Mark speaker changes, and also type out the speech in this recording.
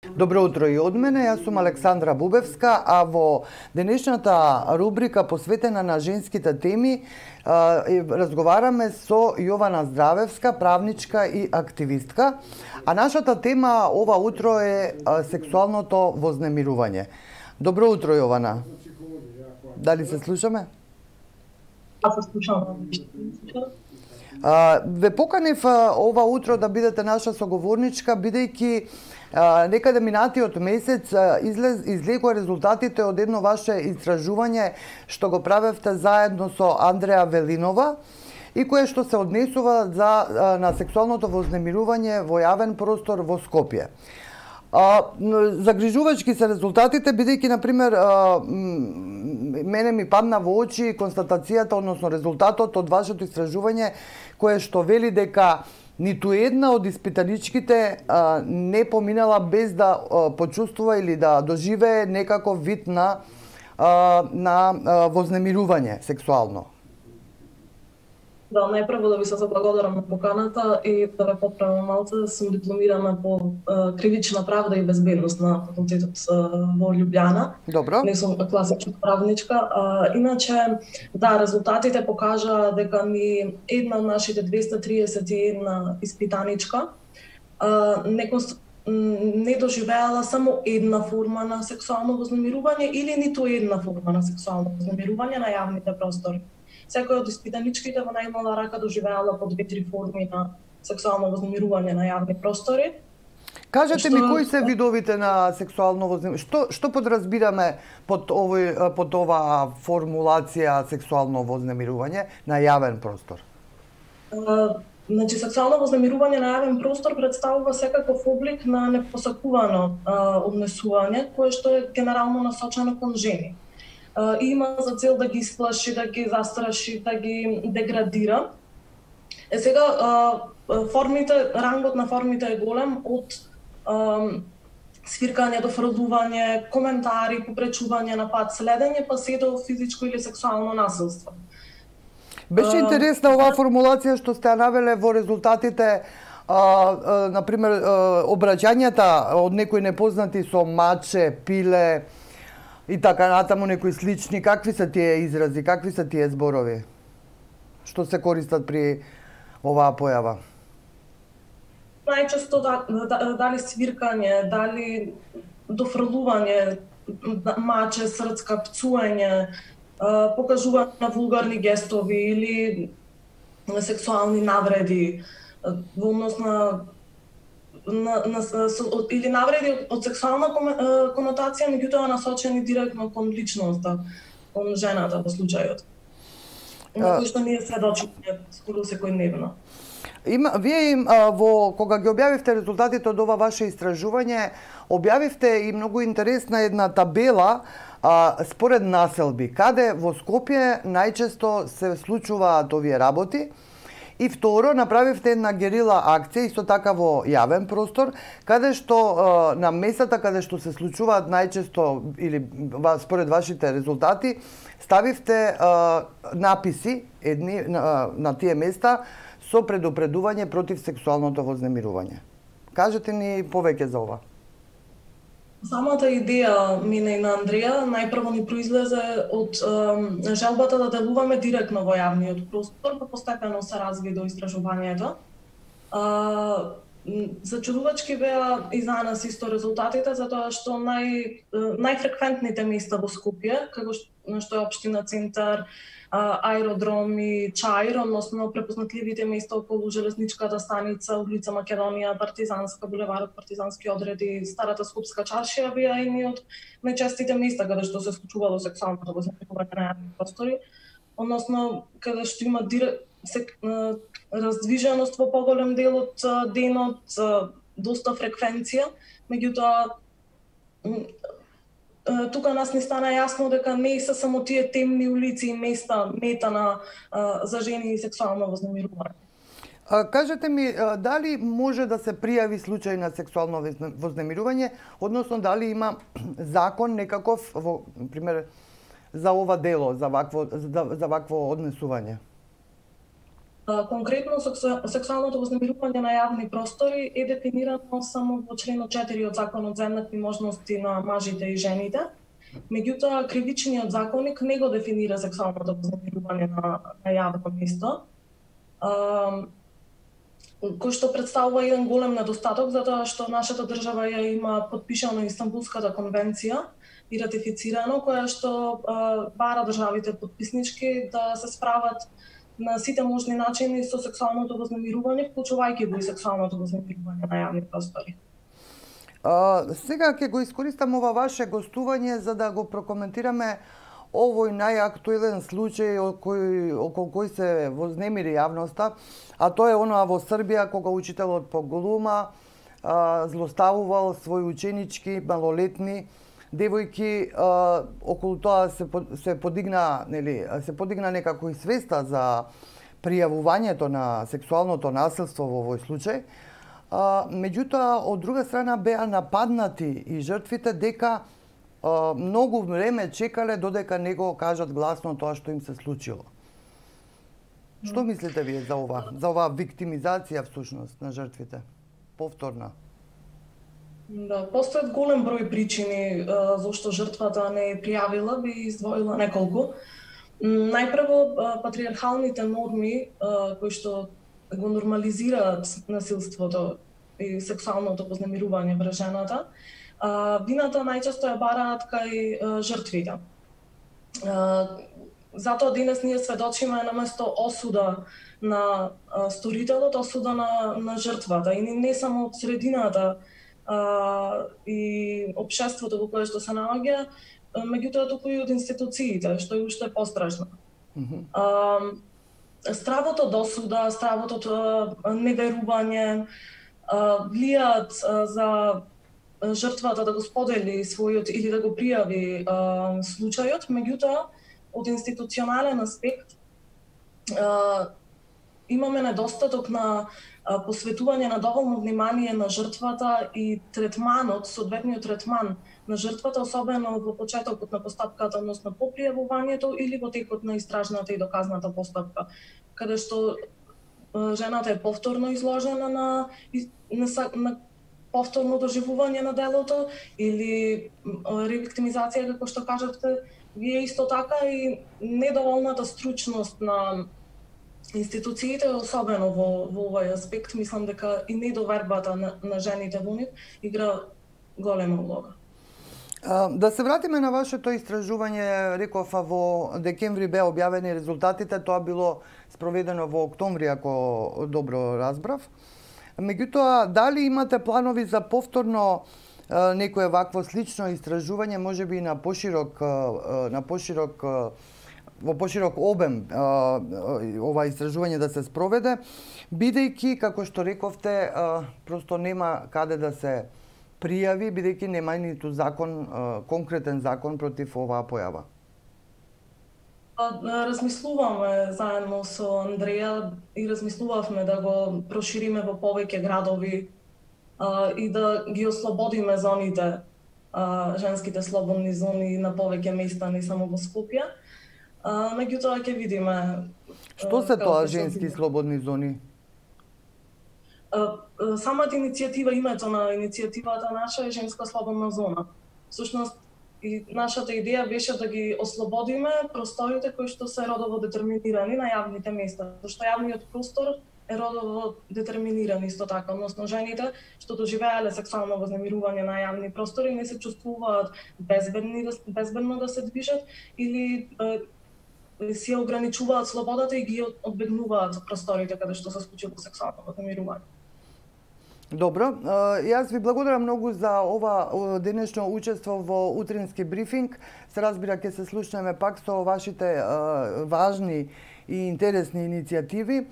Speaker 1: Добро утро и од мене, јас сум Александра Бубевска, а во денешната рубрика посветена на женските теми разговараме со Јована Здравевска, правничка и активистка, а нашата тема ова утро е сексуалното вознемирување. Добро утро, Јована. Дали се слушаме?
Speaker 2: Се слушам.
Speaker 1: Ве поканив ова утро да бидете наша соговорничка, бидејќи некаде минатиот месец излегоа резултатите од едно ваше истражување што го правевте заедно со Андреа Велинова и кое што се однесува на сексуалното вознемирување во јавен простор во Скопје. Загрижувачки се резултатите, бидејќи, например, мене ми падна во очи констатацијата, односно резултатот од вашето истражување, кое што вели дека ниту една од испитаничките не поминала без да почувствува или да доживее некаков вид на вознемирување сексуално.
Speaker 2: Да, најпрво да ви се заблагодарам на поканата и да ве поправам малце, да сум дипломирана по кривична правда и безбедност на факултетот во Љубљана.
Speaker 1: Добро.
Speaker 2: Не сум класична правничка. Иначе, да, резултатите покажаа дека ни една од нашите 231 испитаничка не доживеала само една форма на сексуално вознемирување или ниту една форма на сексуално вознемирување на јавните простори. Секој од испитаничките во најмала рака доживеала по 2-3 форми на сексуално вознемирување на јавни простори.
Speaker 1: Кажете ми кои се видовите на сексуално вознемирување? Што подразбираме под оваа формулација сексуално вознемирување на јавен простор?
Speaker 2: Значи, сексуално вознемирување на јавен простор представува секаков облик на непосакувано однесување, кое што е генерално насочено кон жени. Има за цел да ги исплаши, да ги застраши, да ги деградира. Сега, рангот на формите е голем, од свиркање до фрлување, коментари, попречување на пат следење, па се до физичко или сексуално насилство.
Speaker 1: Беше интересна оваа формулација што сте навеле во резултатите, например, обраќањата од некои непознати со маче, пиле, и така натаму некои слични. Какви се тие изрази, какви се тие зборови? Што се користат при оваа појава?
Speaker 2: Најчесто дали свиркање, дали дофрлување, маче, срцка, пцување, покажување на вулгарни гестови или сексуални навреди во однос или навреди од сексуална конотација, меѓутоа насочени директно кон личноста, кон жената во случајот. На кој што ние сведочиме скоро секојдневно.
Speaker 1: Вие кога ги објавивте резултатите од ова ваше истражување, објавивте и многу интересна една табела според населби, каде во Скопје најчесто се случуваат овие работи. И второ, направивте една герила акција, исто така во јавен простор, каде што на местата каде што се случуваат најчесто, или според вашите резултати, ставивте написи на тие места со предупредување против сексуалното вознемирување. Кажете ни повеќе за ова.
Speaker 2: Самата идеја мене и на Андреа најпрво ни произлезе од желбата да делуваме директно во јавниот простор, па постепено се разви до истражувањето. Зачудувачки беа и за нас исто резултатите, затоа што најфреквентните места во Скопје, како што е општина Центар, аеродром и Чаир, односно препознатливите места околу железничката станица, улица Македонија, Партизанска, булеварот Партизански одреди, Старата Скопска чаршија беа едни од најчестите места каде што се случувало сексуалното вознемирување на јавни простори, односно каде што има раздвиженост во поголем дел од денот, доста фреквенција, меѓутоа тука нас ни стана јасно дека не се само тие темни улици и места мета за жени и сексуално вознемирување.
Speaker 1: Кажете ми, дали може да се пријави случај на сексуално вознемирување, односно дали има закон некаков, пример, за ова дело, за вакво однесување?
Speaker 2: Конкретно, сексуалното вознемирување на јавни простори е дефинирано само во членот 4 од Законот за еднакви можности на мажите и жените. Меѓутоа, кривичниот законник не го дефинира сексуалното вознемирување на јавно место, кој што представува еден голем недостаток, затоа што нашата држава ја има подпишано Истанбулската конвенција и ратифицирано, која што бара државите подписнички да се справат на сите можни начини со сексуалното вознемирување, вклучувајќи го и сексуалното вознемирување на јавни простори.
Speaker 1: Сега ќе го искористам ова ваше гостување за да го прокоментираме овој најактуелен случај околу кој се вознемири јавноста, а тоа е онаа во Србија кога учителот по голума злоставувал своји ученички малолетни девојки. Околу тоа се подигна некако и свеста за пријавувањето на сексуалното насилство во овој случај. Меѓутоа, од друга страна беа нападнати и жртвите дека многу време чекале додека не го кажат гласно тоа што им се случило. Што мислите вие за ова? За оваа виктимизација всушност на жртвите? Повторна.
Speaker 2: Да, постојат голем број причини зашто жртвата не е пријавила, би издвоила неколку. Најпрво, патриархалните норми кои што го нормализираат насилството и сексуалното вознемирување врз жената, вината најчесто ја бараат кај жртвите. Затоа денес ние сведочиме наместо осуда на сторителот, осуда на жртвата, и не само од средината и општеството во кое што се наоѓа, меѓутоа туку и од институциите, што е уште пострашно. Стравото до суда, стравото неверување влијаат за жртвата да го сподели својот или да го пријави случајот, меѓутоа од институционален аспект имаме недостаток на посветување на доволно внимание на жртвата и третманот, соодветниот третман на жртвата, особено во почетокот на постапката, односно по пријавувањето или во текот на истражната и доказната постапка, каде што жената е повторно изложена на повторно доживување на делото или ревиктимизација, како што кажавте вие, исто така и недоволната стручност на институциите, особено во овој аспект. Мислам дека и недовербата на жените во нив игра голема улога.
Speaker 1: Да се вратиме на вашето истражување, реков во декември беа објавени резултатите, тоа било спроведено во октомври, ако добро разбрав. Меѓутоа, дали имате планови за повторно некое вакво слично истражување, можеби на во поширок обем ова истражување да се спроведе, бидејќи, како што рековте, просто нема каде да се пријави, бидејќи нема ниту закон, конкретен закон против оваа појава?
Speaker 2: Размислуваме заедно со Андреја и размислувавме да го прошириме во повеќе градови и да ги ослободиме зоните, женските слободни зони на повеќе места, не само во Скопје. Меѓутоа ќе видиме.
Speaker 1: Што се тоа женски слободни зони?
Speaker 2: Самата иницијатива, името на иницијативата наша е Женска слободна зона. Всушност, и нашата идеја беше да ги ослободиме просторите кои што се родово детерминирани на јавните места, зашто јавниот простор е родово детерминиран исто така, односно жените што доживеале сексуално вознемирување на јавни простори не се чувствуваат безбедно да се движат или си ограничуваат слободата и ги одбегнуваат просторите каде што се случило сексуално вознемирување.
Speaker 1: Добро, јас ви благодарам многу за ова денешно учество во утрински брифинг. Се разбира, ќе се слушнеме пак со вашите важни и интересни иницијативи.